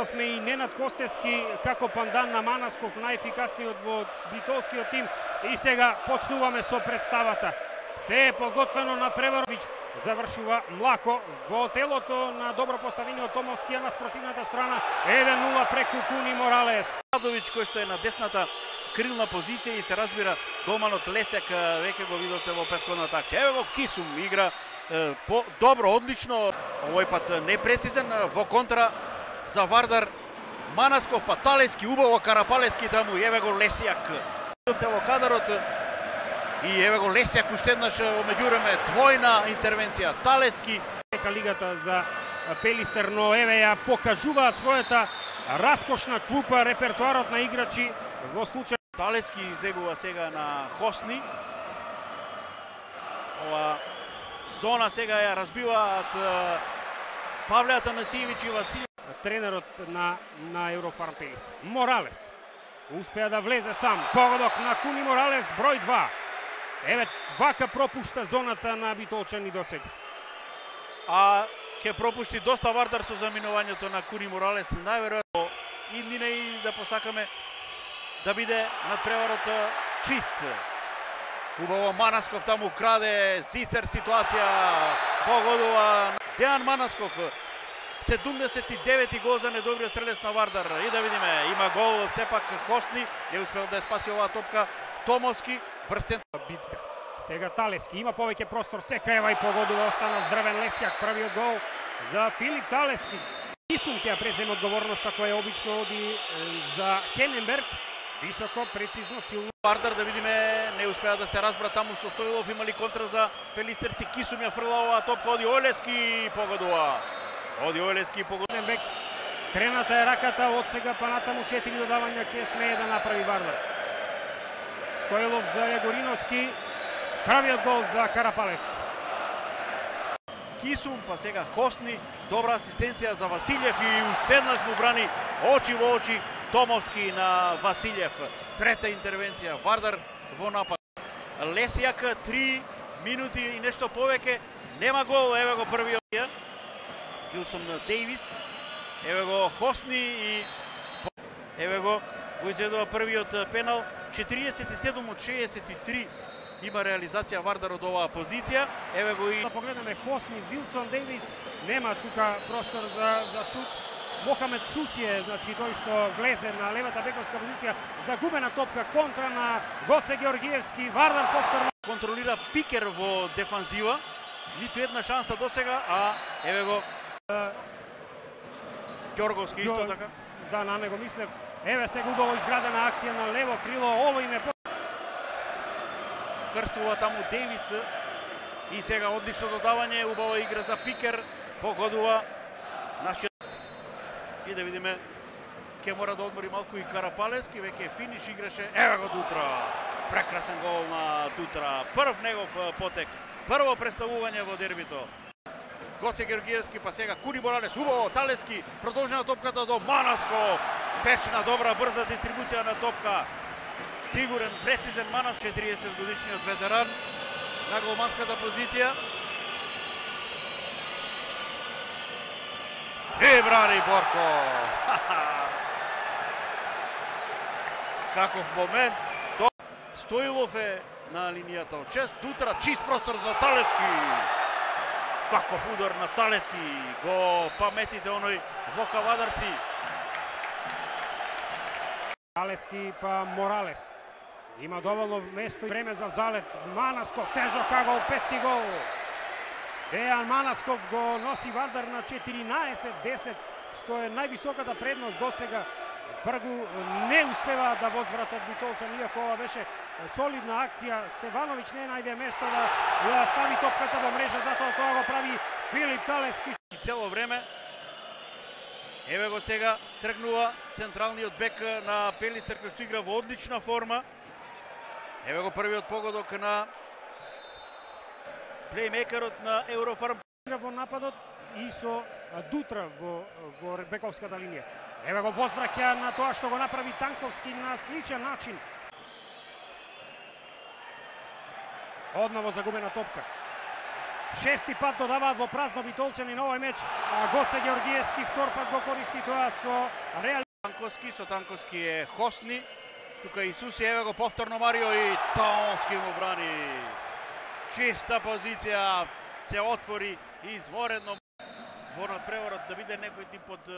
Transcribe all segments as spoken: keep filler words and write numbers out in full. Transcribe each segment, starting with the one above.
Гледавме и Ненад Костевски како пандан на Манасков, најефикасниот во битолскиот тим, и сега почнуваме со представата. Се е подготвено на Преворович, завршува млако во телото на добро поставениот Томовски, а на спротивната страна еден нула преку Куни Моралес. Радович кој што е на десната крилна позиција и се разбира голманот Лесјак, веќе го видовте во претходната акција. Еве го Кисум игра е, по добро, одлично, овој пат непрецизен во контра за Вардар. Манасков, па Талески, убаво Карапалески таму, еве го Лесјак. Видовте во кадарот и еве го Лесјак уште еднаш во меѓувреме двојна интервенција. Талески Нека лигата за Пелистер, но еве ја покажуваат својата раскошна клупа, репертоарот на играчи во случај. Талески излегува сега на Хосни. Ова зона сега ја разбиваат Павле Атанасиевич и Василев. Тренерот на на Еврофарм Пелистер. Моралес успеа да влезе сам. Погодок на Куни Моралес, број два. Еве вака пропушта зоната на битолчани досега. А ќе пропушти доста Вардар со заминувањето на Куни Моралес. Најверојатно иднине и да посакаме да биде надпреварот чист. Убаво Манасков таму краде, Зицер ситуација, погодува Дејан Манасков. седумдесет и девети гол за недобриот стрелец на Вардар. И да видиме, има гол сепак Хосни, не успел да ја спаси оваа топка Томовски. Брзцен битка. Сега Талески има повеќе простор, се крева и погодува, остана здравен Лесјак, првиот гол за Филип Талески. Кисум ќе ја преземе одговорноста која обично оди за Хененберг. Високо, прецизно, силно. Вардар, да видиме, не успеа да се разбра таму со Стоилов, имали контра за Пелистерци. Кисум ја фрла оваа топка, оди Олески, погодува. Оди Олески, погодува. Бек, крената е раката, од сега па натаму четири додавања ќе смее да направи Вардар. Стоилов за Јагориновски, правиот гол за Карапалевски. Кисум, па сега Хосни, добра асистенција за Василев и уште еднаш му брани очи во очи Томовски на Василев. Трета интервенција, Вардар во напад. Лесјак, три минути и нешто повеќе, нема гол, еве го првиот. Вилсон Дејвис, еве го Хосни и еве го го изведува првиот пенал. четириесет и седум од шеесет и три има реализација Вардар од оваа позиција. Еве го и да погледнеме Хосни, Вилсон Дејвис, нема тука простор за за шут. Мохамед Сусије, значи тој што влезе на левата бековска позиција, загубена топка, контра на Гоце Георгиевски, Вардар повторно контролира Пикер во дефанзива. Ниту една шанса досега, а еве го Ѓорговски исто така. Да, на него мислев. Еве сега убаво изградена акција на лево крило, ово име вкрстува таму Дејвис и сега одлично додавање, убава игра за Пикер, погодува нашиот. И да видиме, ќе мора да одмори малку и Карапалевски, веќе финиш играше. Еве го Дутра, прекрасен гол на Дутра, прв негов потек, прво представување во дербито. Гоце Георгиевски, па сега Куни Моралес, убаво Талески, продолжена топката до Манаско, течна, добра, брза дистрибуција на топка. Сигурен, прецизен Манас, четириесет годишниот ветеран на голманската позиција. И брани Борко. Каков момент. Стоилов е на линијата од шест. Дутра, чист простор за Талески. Каков удар на Талески. Го паметите оној во Кавадарци. Талески па Моралес. Има доволно место и време за залет. Манасков, тежок гол, пети гол. Дејан Манасков го носи Вардар на четиринаесет десет, што е највисоката предност досега. Бргу не успева да возвратат битолчани, иако ова беше солидна акција. Стевановиќ не најде место да ја стави топката во мрежа, затоа тоа го прави Филип Талески. И цело време, еве го сега тргнува централниот бек на Пелистер, кој што игра во одлична форма. Еве го првиот погодок на плеймейкерот на Еврофарм. Во нападот и со Дутра во, во бековската линија. Еве го возвраќа на тоа што го направи Танковски на сличен начин. Одново загубена топка. Шести пат додаваат во празно Битолчани на овој меч. Гоце Георгиевски втор пат го користи тоа со реал. Танковски, со Танковски е Хосни. Тука Исуси, еве го повторно Марио и Томовски му брани. Чиста позиција, се отвори изворедно. Во надпреворот да биде некој тип од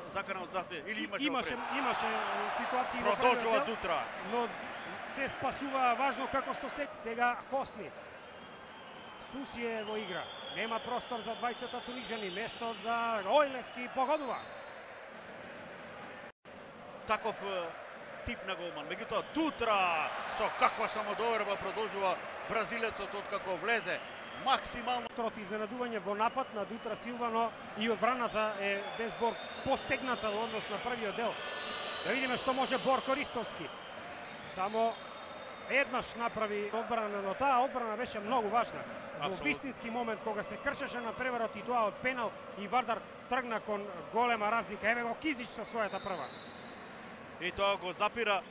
закана од запе или имаше имаше имаше ситуации во продолжува Дутра, но се спасува важно како што се сега Хосни. Суси е во игра. Нема простор за двајцата тунижани, место за Ојлески погодува. Таков тип на голман. Меѓутоа Дутра со каква самодоверба продолжува бразилецот откако влезе максимално. Трот изненадување во напад на Дутра Силвано и одбраната е без Бор постегната во однос на првиот дел. Да видиме што може Борко Ристовски. Само еднаш направи одбрана, но таа одбрана беше многу важна. Во вистински момент кога се кршеше на преворот и тоа од пенал и Вардар тргна кон голема разлика. Еве го Кизич со својата прва. И тоа го запира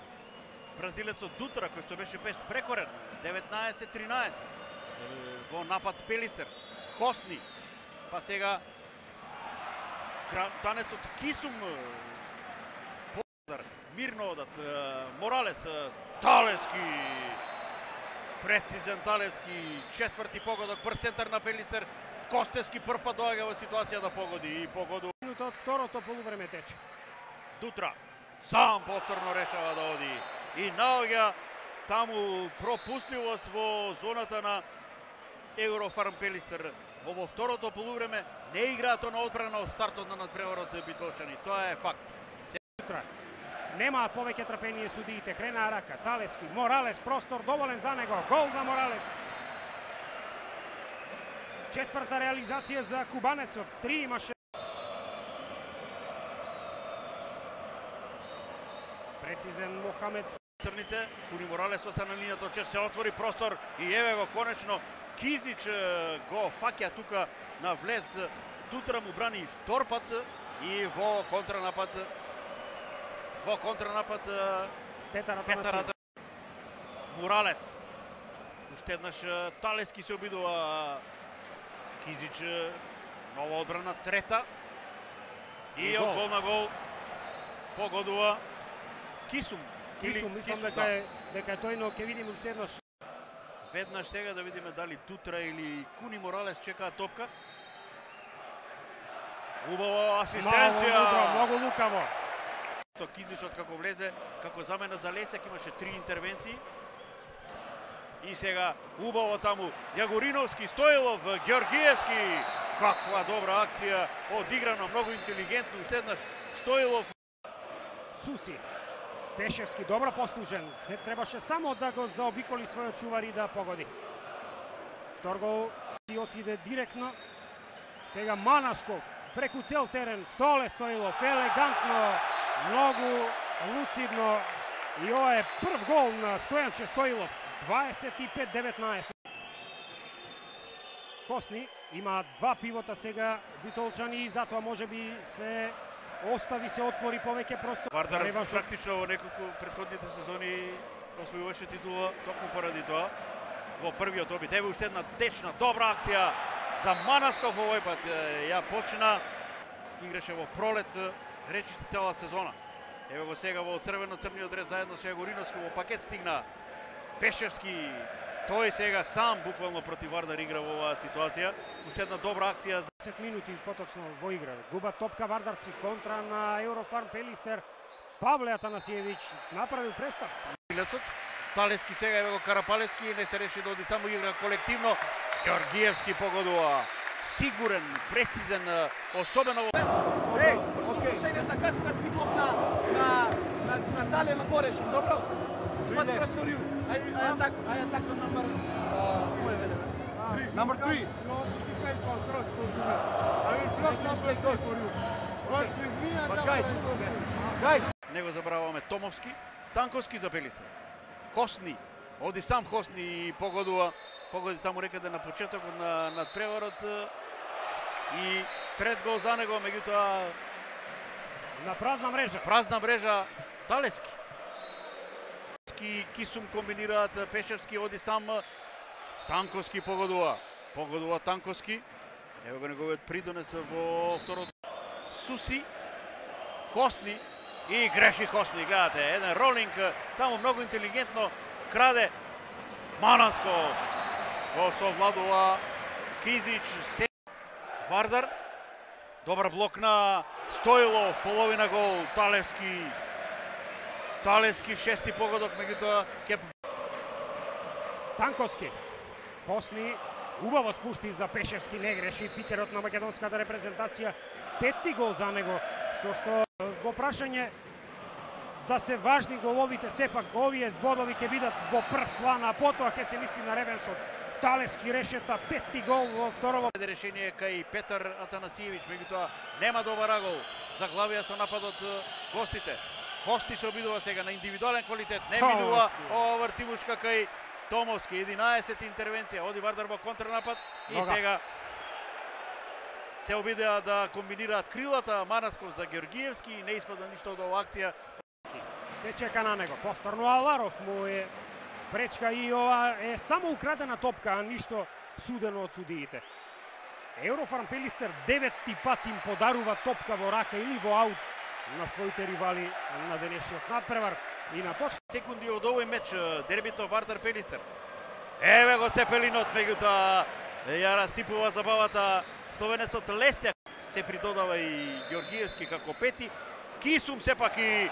бразилецот Дутра кој што беше без прекорен. деветнаесет тринаесет. Во напад Пелистер, Хосни, па сега танецот Кисум, мирно одат, Моралес, Талевски, прецизен Талевски, четврти погодок, прв центар на Пелистер, Костевски прв пат доаѓа во ситуација да погоди и погоду. Од второто полувреме тече. Дутра сам повторно решава да оди и наоѓа таму пропустливост во зоната на Еврофарм Пелистер. Во второто полувреме не играато на одбрана од стартот на надпреворот Битолчани. Тоа е факт. Дутра немаат повеќе трпение судиите. Крена рака, Талески, Моралес, простор доволен за него. Гол на Моралес. Четврта реализација за кубанецот. Три имаше. Прецизен Мохамед. Црните, Куни Моралес остана на линијата, че се отвори простор и еве го конечно Кизич го фаќа тука на влез. Дутра му брани втор пат и во контранапад во контранапад Петар Петар Моралес. Уште еднаш Талески се обидува. Кизич нова одбрана, трета и од гол на гол погодува Кисум. Кисум, мислам дека е дека е тој, но ќе видиме уште еднаш. Веднаш сега да видиме дали Дутра или Куни Моралес чекаат топка. Убава асистенција. Многу, многу лукаво. Кизичот како влезе, како замена за Лесек, имаше три интервенции. И сега убаво таму Јагориновски, Стоилов, Георгиевски. Каква добра акција, одиграна многу интелигентно, уште еднаш Стоилов. Суси. Пешевски добро послужен, се требаше само да го заобиколи својот чувар и да погоди. Втор гол и отиде директно. Сега Манасков преку цел терен, Столе Стоилов, елегантно, многу луцидно и ова е прв гол на Стојанче Стоилов, дваесет и пет деветнаесет. Хосни има два пивота сега Битолчани и затоа можеби се остави се отвори повеќе простор. Вардар практично во неколку претходните сезони освојуваше титула токму поради тоа. Во првиот обид еве уште една течна добра акција за Манасков овој пат. Ја почна, играше во пролет, речиси цела сезона. Еве го сега во црвено-црниот дрес заедно со Јагориновски во пакет стигна Пешевски. Тој сега сам буквално против Вардар игра во оваа ситуација. Уште една добра акција за десет минути поточно во игра. Губа топка Вардарци, контра на Еврофарм Пелистер. Павле Атанасиевич направил престап. Талески сега еве го Карапалески, не се реши да оди само игра колективно. Георгиевски погодува. Сигурен, прецизен, особено во... Еј, слушање за Каспер Пиков на на на на Дале на Борешки, добро? What's the for you? I, I attack, I attack the number, uh, number three. No, defend control for you. I will block number three for you. But with me and But guys, guys. Не го забраваме Томовски, Танковски за Пелистер. Хосни, оди сам Хосни и погодува, погоди таму некаде на почетокот на надпреворот и пред гол за него, меѓутоа на празна мрежа. Празна мрежа Талески. Кисум комбинираат, Пешевски оди сам, Танковски погодува. Погодува Танковски. Ево го неговиот придонес во второто. Суси, Хосни и греши Хосни. Гледате, еден ролинг, таму многу интелигентно краде Манасков. Го совладува Кизич. Вардар. Добар блок на Стоилов, половина гол. Талевски. Талевски шести погодок, меѓутоа кеп. Танковски. Хосни убаво спушти за Пешевски, не греши пикерот на македонската репрезентација. Петти гол за него, со што во прашање да се важни головите, сепак овие бодови ќе бидат во прв план, а потоа ќе се мисли на ревеншот. Талевски решета петти гол во второво. Решение кај Петар Атанасиевич, меѓутоа нема добар гол. Заглавија со нападот гостите. Хосни се обидува сега на индивидуален квалитет, не минува ова вртивушка кај Томовски, единаесет интервенција, оди Вардар во контрнапад и сега се обидеа да комбинираат крилата. Манасков за Георгиевски и не испада ништо од оваа акција. Се чека на него, повторно Аларов му е пречка и ова е само украдена топка, а ништо судено од судиите. Еврофарм Пелистер деветти пат им подарува топка во рака или во аут на своите ривали на денешниот надпревар. И на почет секунди од овој меч, дербито Вардар Пелистер. Еве го Цепелинот, меѓутоа ја расипува забавата словенецот Лесјак. Се придодава и Георгиевски како пети. Кисум сепак и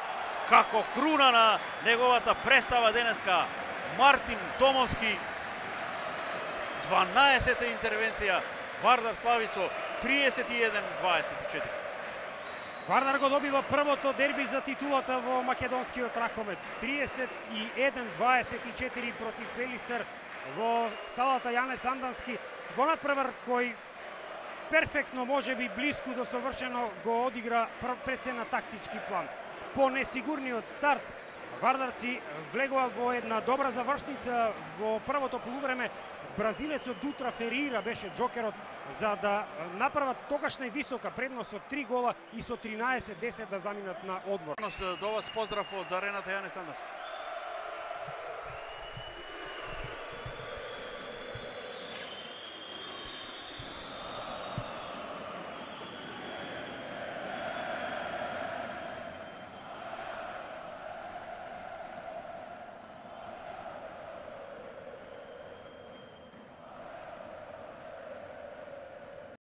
како круна на неговата представа денеска. Мартин Томовски. дванаесета интервенција. Вардар слави со триесет и еден дваесет и четири. Вардар го добива првото дерби за титулата во македонскиот ракомет. триесет и еден дваесет и четири против Пелистер во салата Јане Сандански. Во надпревар кој перфектно, може би блиску до совршено, го одигра пред се на тактички план. По несигурниот старт, вардарци влегува во една добра завршница во првото полувреме. Бразилецот Дутра Ферира беше джокерот за да направат тогаш највисока предност од три гола и со тринаесет десет да заминат на одмор. До вас поздрав од арената Јане Сандански.